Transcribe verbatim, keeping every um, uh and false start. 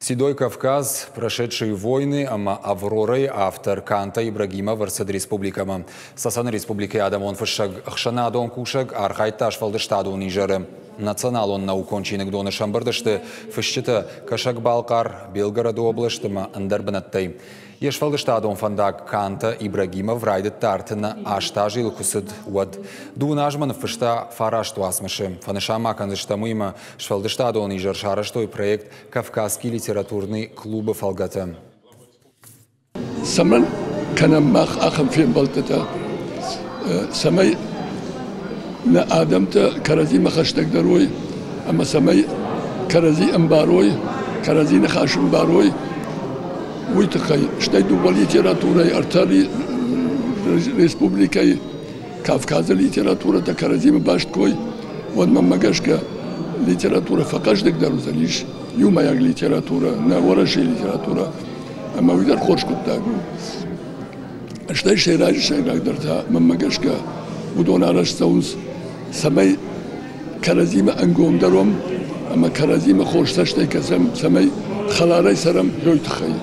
«Седой Кавказ», «Прошедшие войны» ӕмӕ «Аврора»-йы автор Канта Ибрагимов ӕрцыд республикӕмӕ. Цӕцӕны республикӕйы адӕмон фыссӕг, ӕхсӕнадон кусӕг архайдта сфӕлдыстадон изӕры. Националон наукон чиныгдоны сӕмбырд сты фысджытӕ Кӕсӕг-Балхъар, Белгороды облӕст ӕмӕ ӕндӕр бынӕттӕй. Йе сфӕлдыстадон фӕндаг Канта Ибрагимов райдыдта ӕртын аст азы йыл куы цыд, уӕд. Дыууын азмӕ ныффыста фараст уацмысы. Фӕнысан ма кӕндзыстӕм, уыимӕ сфӕлдыстадон изӕр сарӕзтой проект «Кавказский литературный клуб»-ы фӕлгӕты. Цӕмӕн кӕнӕм мах ахӕм фембӕлдтытӕ, цӕмӕй нӕ адӕмтӕ кӕрӕдзимӕ хӕстӕгдӕр уой ӕмӕ цӕмӕй кӕрӕдзи ӕмбарой, кӕрӕдзи ныхас ӕмбарой, уый тыххӕй. Стӕй дыууӕ литературӕйы, ӕртӕ республикӕйы Кавказы литературӕтӕ кӕрӕдзимӕ баст кой, уӕд мӕнмӕ гӕсгӕ литературӕ фӕхъӕздыгдӕр уыдзӕнис, иумӕйаг литературӕ, нӕ Уӕрӕсейы литературӕ, ӕмӕ уый дӕр хорз хъуыддаг у. Стӕй сӕйраджы сӕйрагдӕр та, мӕнмӕ гӕсгӕ, уыдон арӕзт цӕуынц, цӕмӕй кӕрӕдзимӕ ӕнгомдӕр уӕм ӕмӕ кӕрӕдзимӕ хорз цӕстӕй кӕсӕм, цӕмӕй хӕларӕй цӕрӕм, уый тыххӕй.